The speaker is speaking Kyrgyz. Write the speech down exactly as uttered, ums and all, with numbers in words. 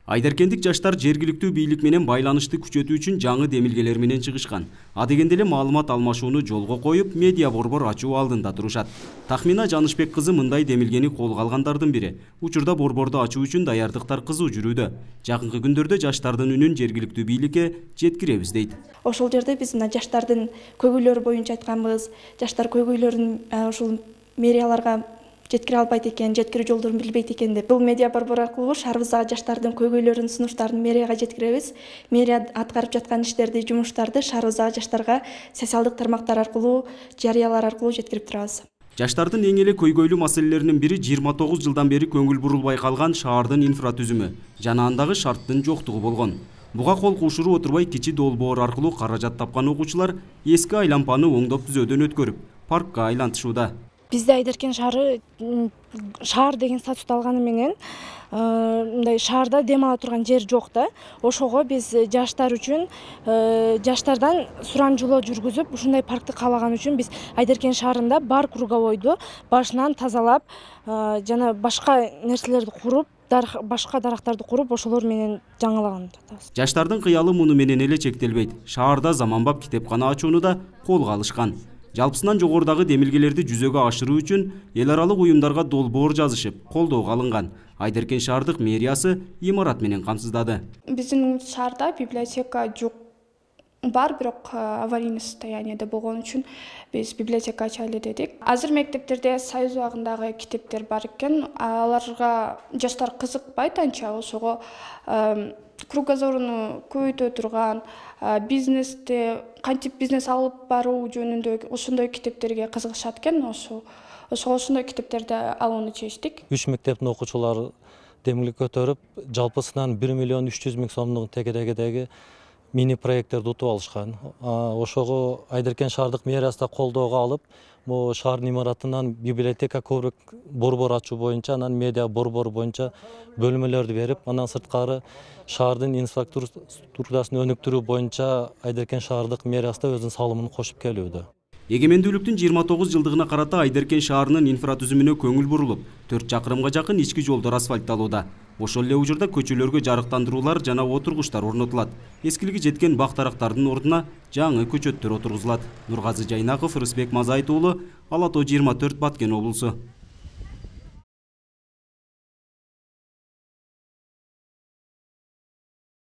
Айдаркендик жаштар жергиликтүү бийлик менен байланышты күчөтүү үчүн жаңы демилгелер менен чыгышкан. Адегенде эле маалымат алмашууну жолго коюп, медиа борбор ачуу алдында турушат. Тахмина Жанышбек кызы мындай демилгени колго алгандардын бири. Учурда борборду ачуу үчүн даярдыктар кызуу жүрүүдө. Жакынкы күндөрдө жаштардын үнүн жергиликтүү бийликке жеткиребиз дейт. Ошол жерде биз мына жаштардын көйгөйлөрү боюнча айтканбыз. Жаштар көйгөйлөрүн ушул мэрияларга жеткире албайт экен, жеткирүү жолдорун билбейт экен деп. Бул медиа борбор аркылуу шаарыбыздагы жаштардын көйгөйлөрүн, сунуштарын мэрияга жеткиребиз. Мэрия аткарып жаткан иштерди, жумуштарды шаарыбыздагы жаштарга социалдык тармактар аркылуу, жарыялар аркылуу жеткирип турабыз. Жаштардын эң эле көйгөйлүү маселелеринин бири жыйырма тогуз жылдан бери көңүл бурулбай калган шаардын инфратүзүмү жана андагы шарттын жоктугу болгон. Буга кол кушуруу отурбай кичи долбоор аркылуу каражат тапкан окуучулар эски айлампаны оңдоп түзөөдөн өткөрүп, паркка айлантышууда. Бизде Айдаркен шаары шаар деген статус алганы менен мындай шаарда дем ала турган жер жок да. Ошого биз жаштар үчүн жаштардан сурамжылоо жүргүзүп, ушундай паркты каалаган үчүн биз Айдаркен шаарында бар круговойду башынан тазалап, жана башка нерселерди куруп, башка дарактарды куруп, ошолор менен жаңылаган жатабыз. Жаштардын кыялы муну менен эле чектелбейт. Шаарда заманбап китепкана ачууну да колго алышкан. Жалпысынан жогорудагы демилгелерди жүзөгө ашыруу үчүн эл аралык уюмдарга долбоор жазышып, колдоого алынган. Айдаркен шаардык мэриясы имарат менен камсыздады. Биздин шаарда библиотека жок. Бар, бирок аварийный состоянияда болгон үчүн биз библиотека ачайлы дедик. Азыр мектептерде союз убагындагы китептер бар экен. Аларга жаштар кызыкпайт анча, ошого кругозоруну көбөйтө турган, бизнесте кантип бизнес алып баруу жөнүндө ошондой китептерге кызыгышат экен. Ошо ошого ошондой китептерди алууну чечтик. Үч мектептин окуучулары демилге көтөрүп, жалпысынан бир миллион үч жүз миң сомдук тегерегидеги мини проекттерди утуп алышкан. Ошого Айдаркен шаардык мэриясы да колдоого алып, могу шаардын имаратынан библиотека көбүрөөк борбор ачуу боюнча, анан медиа борбору боюнча бөлмөлөрдү берип, андан сырткары шаардын инфраструктурасын өнүктүрүү боюнча Айдаркен шаардык мэриясы да өзүнүн салымын кошуп келүүдө. Эгемендүүлүктүн жыйырма тогуз жылдыгына карата Айдаркен шаарынын инфратүзүмүнө көңүл бурулуп, төрт чакырымга жакын ички жолдор асфальтталууда. Ошол эле учурда көчөлөргө жарыктандыруулар жана отургучтар орнотулат. Эскилиги жеткен бак-дарактардын ордуна жаңы көчөттөр отургузулат. Нургазы Жайнаков, Рысбек Мазайыт уулу, Ала тоо жыйырма төрт, Баткен облусу.